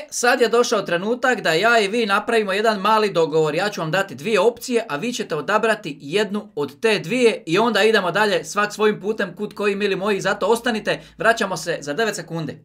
Sad je došao trenutak da ja i vi napravimo jedan mali dogovor. Ja ću vam dati dvije opcije, a vi ćete odabrati jednu od te dvije i onda idemo dalje svak svojim putem kud koji, mili moji. Zato ostanite, vraćamo se za 9 sekundi.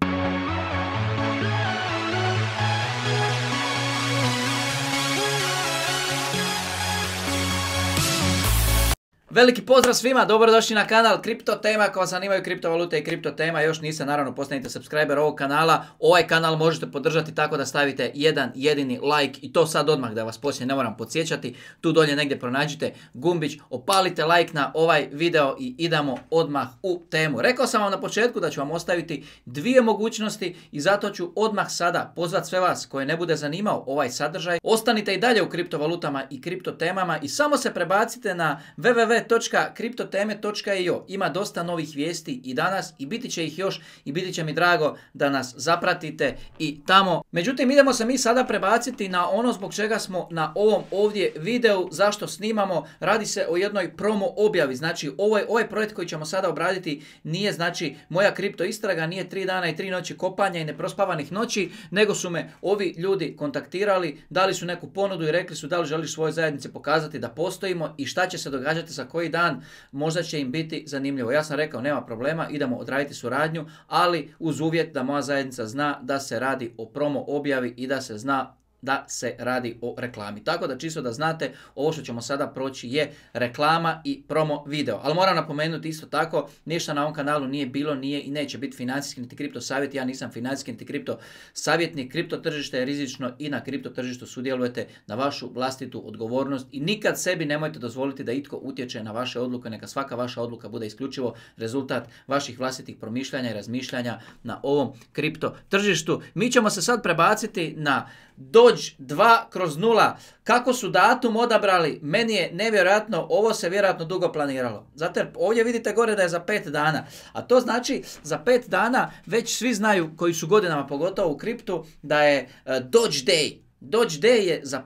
Veliki pozdrav svima, dobrodošli na kanal Kripto Tema. Ako vas zanimaju kriptovalute i kripto tema, još niste, naravno postanite subscriber ovog kanala. Ovaj kanal možete podržati tako da stavite jedan jedini like i to sad odmah, da vas poslije ne moram podsjećati. Tu dolje negdje pronađite gumbić, opalite like na ovaj video i idemo odmah u temu. Rekao sam vam na početku da ću vam ostaviti dvije mogućnosti i zato ću odmah sada pozvati sve vas koje ne bude zanimao ovaj sadržaj. Ostanite i dalje u kriptovalutama i kripto temama i samo se prebacite na www.kriptoteme.io. Ima dosta novih vijesti i danas i biti će ih još i biti će mi drago da nas zapratite i tamo. Međutim, idemo se mi sada prebaciti na ono zbog čega smo na ovom ovdje videu, zašto snimamo. Radi se o jednoj promo objavi. Znači, ovaj projekt koji ćemo sada obraditi nije znači moja kripto istraga, nije 3 dana i 3 noći kopanja i neprospavanih noći, nego su me ovi ljudi kontaktirali, dali su neku ponudu i rekli su da li želiš svojoj zajednici pokazati da postojimo i šta će se događati sa koji dan, možda će im biti zanimljivo. Ja sam rekao nema problema, idemo odraditi suradnju, ali uz uvjet da moja zajednica zna da se radi o promo objavi i da se zna da se radi o reklami. Tako da čisto da znate, ovo što ćemo sada proći je reklama i promo video. Ali moram napomenuti isto tako, ništa na ovom kanalu nije bilo, nije i neće biti financijski niti kripto savjet. Ja nisam financijski niti kripto savjetnik. Kripto tržište je rizično i na kripto tržištu sudjelujete na vašu vlastitu odgovornost i nikad sebi nemojte dozvoliti da itko utječe na vaše odluke. Neka svaka vaša odluka bude isključivo rezultat vaših vlastitih promišljanja i razmišljanja na ovom kripto tržištu. Mi ćemo se sad prebaciti na Doge 2/0. Kako su datum odabrali, meni je nevjerojatno, ovo se vjerojatno dugo planiralo. Zato jer ovdje vidite gore da je za 5 dana. A to znači za 5 dana već svi znaju koji su godinama pogotovo u kriptu da je Doge Day. Doge Day je za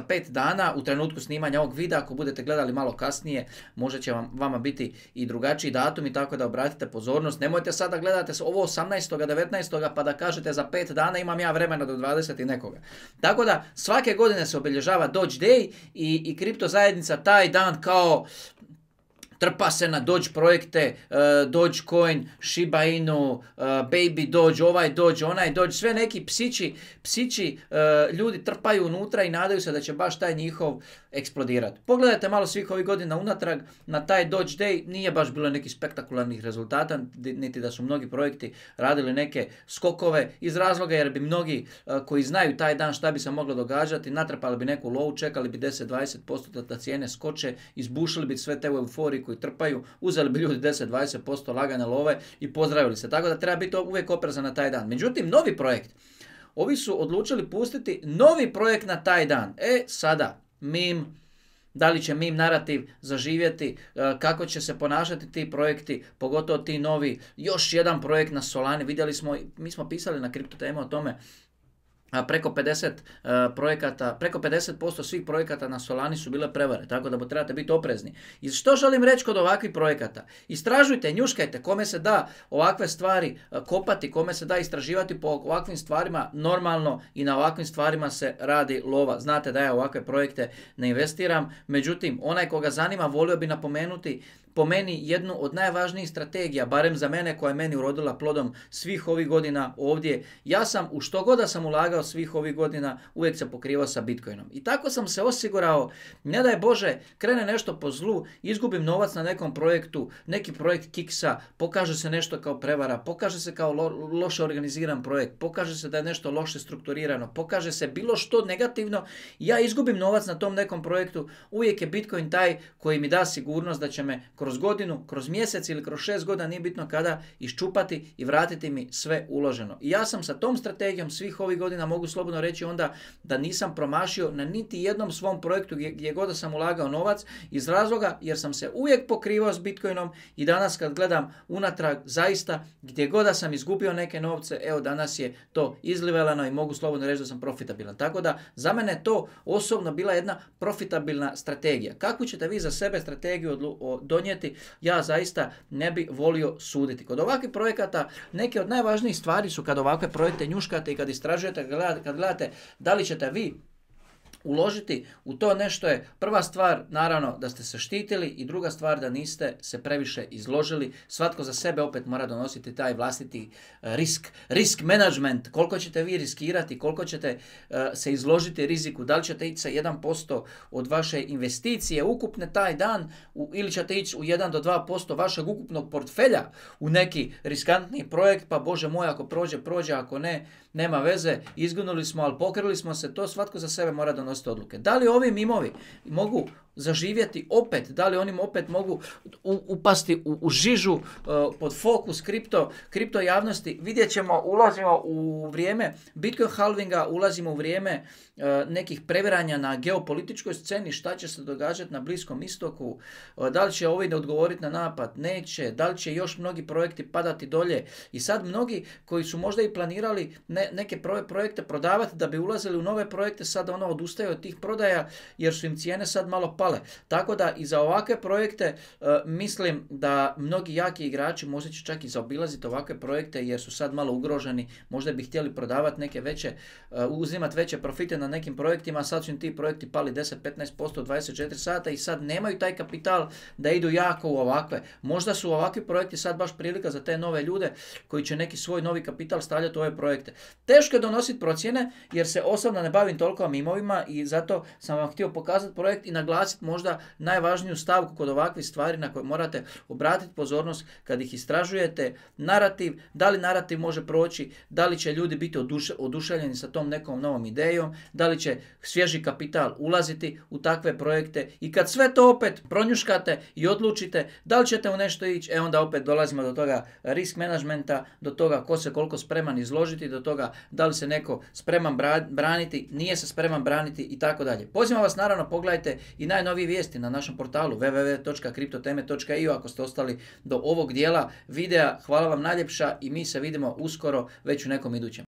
5 dana u trenutku snimanja ovog videa. Ako budete gledali malo kasnije, možda će vama biti i drugačiji datum i tako da obratite pozornost. Nemojte sada gledate ovo 18. 19. pa da kažete za 5 dana imam ja vremena do 20 i nekoga. Tako da svake godine se obilježava Doge Day i kripto zajednica taj dan kao trpa se na Doge projekte, Dogecoin, Shiba Inu, Baby Doge, ovaj Doge, onaj Doge, sve neki psići ljudi trpaju unutra i nadaju se da će baš taj njihov eksplodirati. Pogledajte malo svih ovih godina unatrag na taj Doge Day, nije baš bilo nekih spektakularnih rezultata, niti da su mnogi projekti radili neke skokove iz razloga jer bi mnogi koji znaju taj dan šta bi se moglo događati, natrpali bi neku low, čekali bi 10-20% da cijene skoče, izbušili bi sve te u euforiji koji trpaju, uzeli bi ljudi 10-20% lagane love i pozdravili se. Tako da treba biti uvijek oprezan na taj dan. Međutim, novi projekt, ovi su odlučili pustiti novi projekt na taj dan. Sada, da li će meme narativ zaživjeti, kako će se ponašati ti projekti, pogotovo ti novi, još jedan projekt na Solani. Vidjeli smo, mi smo pisali na Kripto Temu o tome, preko 50% svih projekata na Solani su bile prevare, tako da trebate biti oprezni. I što želim reći kod ovakvih projekata? Istražujte, njuškajte kome se da ovakve stvari kopati, kome se da istraživati po ovakvim stvarima normalno i na ovakvim stvarima se radi lova. Znate da ja ovakve projekte ne investiram, međutim onaj koga zanima volio bi napomenuti po meni jednu od najvažnijih strategija, barem za mene koja je meni urodila plodom svih ovih godina ovdje. Ja sam u što god da sam ulagao svih ovih godina uvijek se pokrivao sa Bitcoinom. I tako sam se osigurao, ne daj Bože, krene nešto po zlu, izgubim novac na nekom projektu, neki projekt kiksa, pokaže se nešto kao prevara, pokaže se kao loše organiziran projekt, pokaže se da je nešto loše strukturirano, pokaže se bilo što negativno, ja izgubim novac na tom nekom projektu, uvijek je Bitcoin taj koji mi da sigurnost da će me kroz godinu, kroz mjesec ili kroz 6 godina, nije bitno kada, iščupati i vratiti mi sve uloženo. I ja sam sa tom strategijom svih ovih godina, mogu slobodno reći onda, da nisam promašio na niti jednom svom projektu gdje god sam ulagao novac, iz razloga jer sam se uvijek pokrivao s Bitcoinom i danas kad gledam unatrag, zaista gdje god da sam izgubio neke novce, evo danas je to izlivelano i mogu slobodno reći da sam profitabilan. Tako da za mene to osobno bila jedna profitabilna strategija. Kakvu ćete vi za sebe strategiju donijeti donijeti, ja zaista ne bi volio suditi. Kod ovakvih projekata neke od najvažnijih stvari su kad ovakve projekte njuškate i kad istražujete, kad gledate da li ćete vi uložiti u to nešto je prva stvar, naravno, da ste se štitili i druga stvar da niste se previše izložili. Svatko za sebe opet mora donositi taj vlastiti risk management, koliko ćete vi riskirati, koliko ćete se izložiti riziku, da li ćete ići sa 1% od vaše investicije ukupne taj dan ili ćete ići u 1 do 2% vašeg ukupnog portfelja u neki riskantni projekt, pa Bože moj, ako prođe, ako ne, nema veze, izgunuli smo, ali pokrili smo se, to svatko za sebe mora donositi odluke. Da li ovi mimovi mogu zaživjeti opet, da li oni opet mogu upasti u žižu pod fokus kripto javnosti, vidjet ćemo, ulazimo u vrijeme Bitcoin halvinga, ulazimo u vrijeme nekih previranja na geopolitičkoj sceni, šta će se događati na Bliskom istoku, da li će ovi ne odgovoriti na napad, neće, da li će još mnogi projekti padati dolje i sad mnogi koji su možda i planirali neke projekte prodavati da bi ulazili u nove projekte, sad odustaju od tih prodaja jer su im cijene sad malo pale. Tako da i za ovakve projekte mislim da mnogi jaki igrači možda će čak i zaobilaziti ovakve projekte jer su sad malo ugroženi, možda bi htjeli prodavati neke veće, uzimati veće profite na nekim projektima, sad su im ti projekti pali 10-15% 24 sata i sad nemaju taj kapital da idu jako u ovakve. Možda su ovakvi projekti sad baš prilika za te nove ljude koji će neki svoj novi kapital stavljati u ove projekte. Teško je donositi procjene jer se osobno ne bavim toliko mimovima i zato sam vam htio pokazati projekt i naglasiti možda najvažniju stavku kod ovakvih stvari na koje morate obratiti pozornost kad ih istražujete. Narativ, da li narativ može proći, da li će ljudi biti oduševljeni sa tom nekom novom idejom, da li će svježi kapital ulaziti u takve projekte i kad sve to opet pronjuškate i odlučite da li ćete u nešto ići, onda opet dolazimo do toga risk managementa, do toga ko se koliko spreman izložiti, do toga da li se neko spreman braniti, nije se spreman braniti i tako dalje. Pozivam vas naravno, pogledajte i najnovije vijesti na našem portalu www.kriptoteme.io ako ste ostali do ovog dijela videa. Hvala vam najljepša i mi se vidimo uskoro već u nekom idućem.